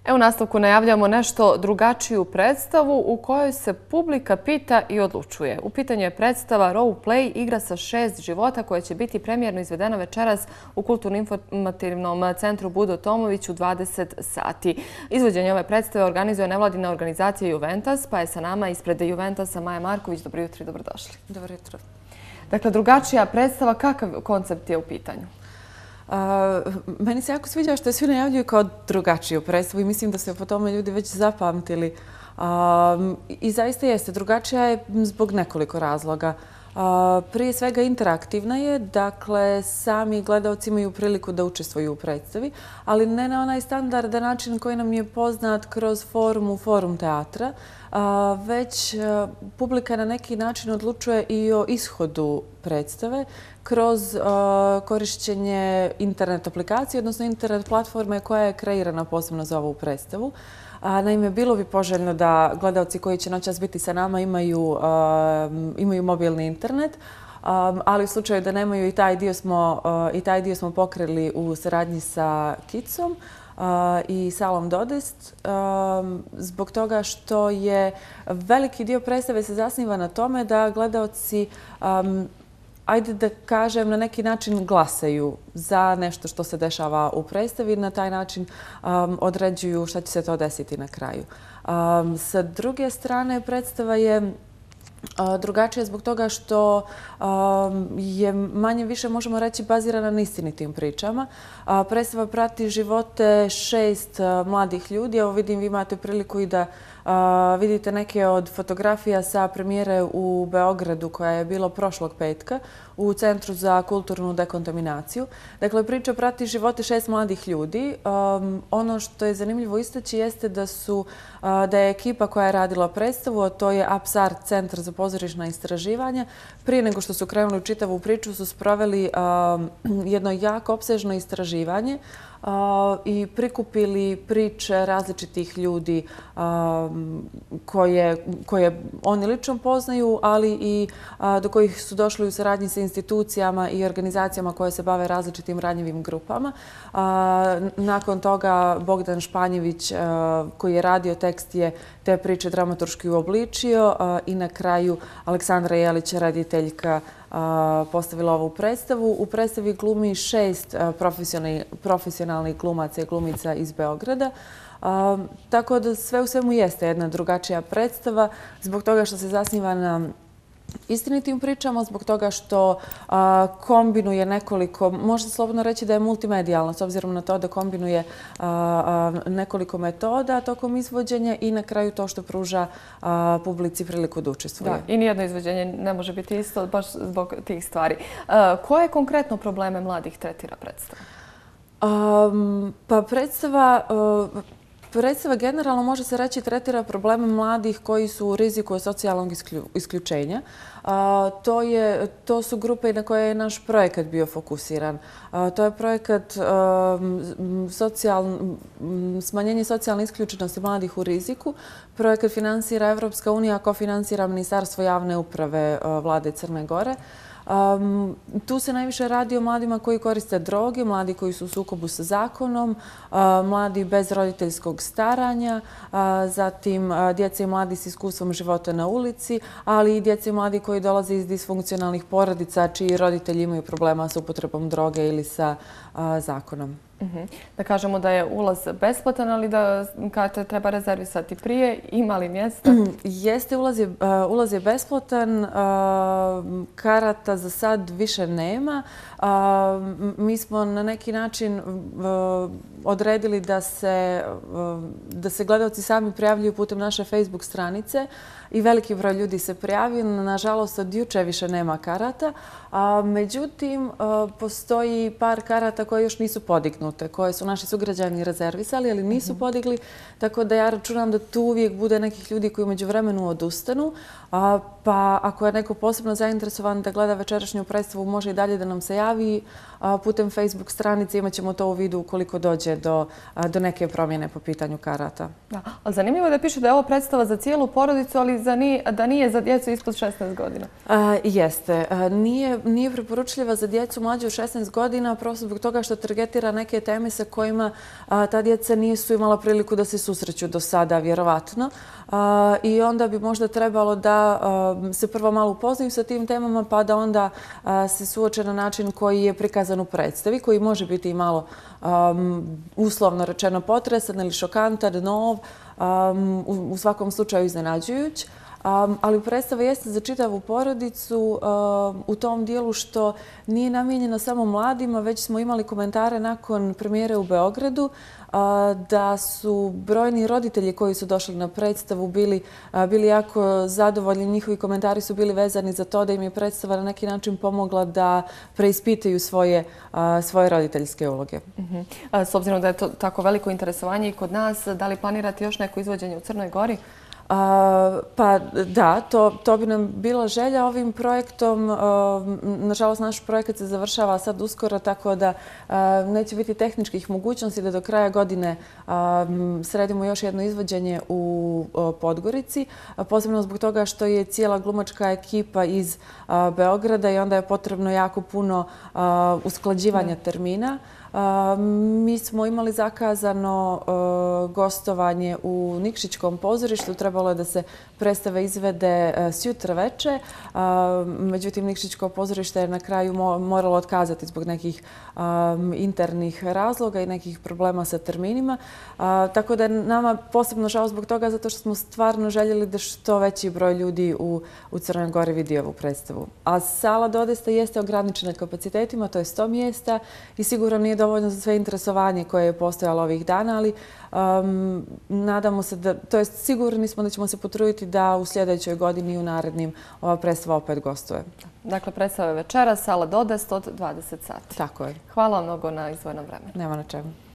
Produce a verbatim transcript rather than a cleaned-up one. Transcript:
Evo u nastavku najavljamo nešto drugačiju predstavu u kojoj se publika pita i odlučuje. U pitanju je predstava Role Play, igra sa šest života koja će biti premijerno izvedena večeras u Kulturno-informativnom centru Budo Tomović u dvadeset sati. Izvođenje ove predstave organizuje nevladina organizacija Juventus, pa je sa nama ispred Juventasa Maja Marković. Dobro jutro i dobrodošli. Dobro jutro. Dakle, drugačija predstava, kakav koncept je u pitanju? Meni se jako sviđa što je svi najavljuju kao drugačiju predstavu i mislim da se po tome ljudi već zapamtili. I zaista jeste, drugačija je zbog nekoliko razloga. Prije svega interaktivna je, dakle sami gledalci imaju priliku da učestvuju u predstavi, ali ne na onaj standardan način koji nam je poznat kroz forum, forum teatra, već publika na neki način odlučuje i o ishodu predstave kroz korišćenje internet aplikacije, odnosno internet platforme koja je kreirana posebno za ovu predstavu. Naime, bilo bi poželjno da gledalci koji će noćas biti sa nama imaju, imaju mobilni internet, ali u slučaju da nemaju i taj dio smo, i taj dio smo pokrili u saradnji sa Kicom i salom Dodest, zbog toga što je veliki dio predstave se zasniva na tome da gledalci, ajde da kažem, na neki način glasaju za nešto što se dešava u predstavi i na taj način određuju šta će se to desiti na kraju. Sa druge strane, predstava je drugačija zbog toga što je manje više, možemo reći, bazirana na istinitim pričama. Predstava prati živote šest mladih ljudi. Evo vidim, vi imate priliku i da vidite neke od fotografija sa premijere u Beogradu koja je bila prošlog petka u Centru za kulturnu dekontaminaciju. Dakle, priča prati živote šest mladih ljudi. Ono što je zanimljivo istaći jeste da su da je ekipa koja je radila predstavu, a to je Apsart, Centar za pozorišna istraživanja, prije nego što su krenuli u čitavu priču su sproveli jedno jako opsežno istraživanje i prikupili priče različitih ljudi koje, koje oni lično poznaju, ali i do kojih su došli u saradnji sa institucijama i organizacijama koje se bave različitim ranjivim grupama. Nakon toga Bogdan Španjević, koji je radio tekst, je te priče dramaturški uobličio i na kraju Aleksandra Jelić, rediteljka, postavila ovu predstavu. U predstavi glumi šest profesionalnih glumaca i glumica iz Beograda. Tako da sve u svemu jeste jedna drugačija predstava zbog toga što se zasniva na istinitim pričama, zbog toga što kombinuje nekoliko, može slobodno reći da je multimedijalna, s obzirom na to da kombinuje nekoliko metoda tokom izvođenja i na kraju to što pruža publici priliku da učestvuje. Da, i nijedno izvođenje ne može biti isto baš zbog tih stvari. Koje konkretno probleme mladih tretira predstava? Pa predstava... Predstava generalno, može se reći, tretira probleme mladih koji su u riziku od socijalnog isključenja. To, je, to su grupe na koje je naš projekat bio fokusiran. To je projekat socijal, smanjenje socijalne isključenosti mladih u riziku. Projekat finansira Evropska unija, kofinansira Ministarstvo javne uprave Vlade Crne Gore. Um, tu se najviše radi o mladima koji koriste droge, mladi koji su u sukobu sa zakonom, uh, mladi bez roditeljskog staranja, uh, zatim uh, djeca i mladi s iskustvom života na ulici, ali i djeca i mladi koji dolaze iz disfunkcionalnih porodica čiji roditelji imaju problema sa upotrebom droge ili sa uh, zakonom. Uh-huh. Da kažemo da je ulaz besplatan, ali da karta treba rezervisati prije. Ima li mjesta? Jeste, ulaz je, uh, ulaz je besplatan. Uh, karata za sad više nema. Uh, mi smo na neki način uh, odredili da se, uh, da se gledalci sami prijavljuju putem naše Facebook stranice i veliki broj ljudi se prijavio. Nažalost, od juče više nema karata. A, međutim, uh, postoji par karata koje još nisu podignute, koje su naši sugrađani rezervisali, ali nisu mm-hmm. podigli. Tako da ja računam da tu uvijek bude nekih ljudi koji umeđu vremenu odustanu. A, pa ako je neko posebno zainteresovan da gleda večerašnju predstavu, može i dalje da nam se javi. A, putem Facebook stranice imat ćemo to u vidu ukoliko dođe doće do, do neke promjene po pitanju karata. Da, ali zanimljivo je da piše da je ovo predstava za cijelu porodicu, ali za nije, da nije za djecu ispod šesnaest godina. A, jeste. A, nije, nije preporučljiva za djecu mlađe od šesnaest godina, prosto zbog toga što targetira neke teme sa kojima a, ta djeca nisu imala priliku da se susreću do sada, vjerovatno. A, I onda bi možda trebalo da a, se prvo malo upoznaju sa tim temama, pa da onda a, se suoče na način koji je prikazan u predstavi, koji može biti i malo um, uslovno rečeno potresan ili šokantan, nov, um, u, u svakom slučaju iznenađujuć. Um, ali predstava jeste za čitavu porodicu um, u tom dijelu što nije namijenjena samo mladima, već smo imali komentare nakon premijere u Beogradu uh, da su brojni roditelji koji su došli na predstavu bili, uh, bili jako zadovoljni. Njihovi komentari su bili vezani za to da im je predstava na neki način pomogla da preispitaju svoje, uh, svoje roditeljske uloge. Uh-huh. A, s obzirom da je to tako veliko interesovanje i kod nas, da li planirate još neko izvođenje u Crnoj Gori? A, pa da, to, to bi nam bila želja ovim projektom. A, nažalost, naš projekat se završava sad uskoro, tako da a, neće biti tehničkih mogućnosti da do kraja godine a, sredimo još jedno izvođenje u a, Podgorici. A, posebno zbog toga što je cijela glumačka ekipa iz a, Beograda i onda je potrebno jako puno a, usklađivanja termina. Uh, mi smo imali zakazano uh, gostovanje u Nikšićkom pozorištu. Trebalo je da se predstava izvede uh, sjutra veče. Uh, međutim, Nikšićko pozorište je na kraju mo moralo otkazati zbog nekih um, internih razloga i nekih problema sa terminima. Uh, tako da je nama posebno žao zbog toga, zato što smo stvarno željeli da što veći broj ljudi u, u Crnoj Gori vidi ovu predstavu. A sala Dodesta jeste ograničena kapacitetima, to je sto mjesta i sigurno nije dovoljno za sve interesovanje koje je postojalo ovih dana, ali um, nadamo se da, to jest sigurni smo da ćemo se potruditi da u sljedećoj godini i u narednim ova predstava opet gostuje. Dakle, predstava je večera, sala Dodest od dvadeset sati. Tako je. Hvala vam mnogo na izdvojenom vremenu. Nema na čemu.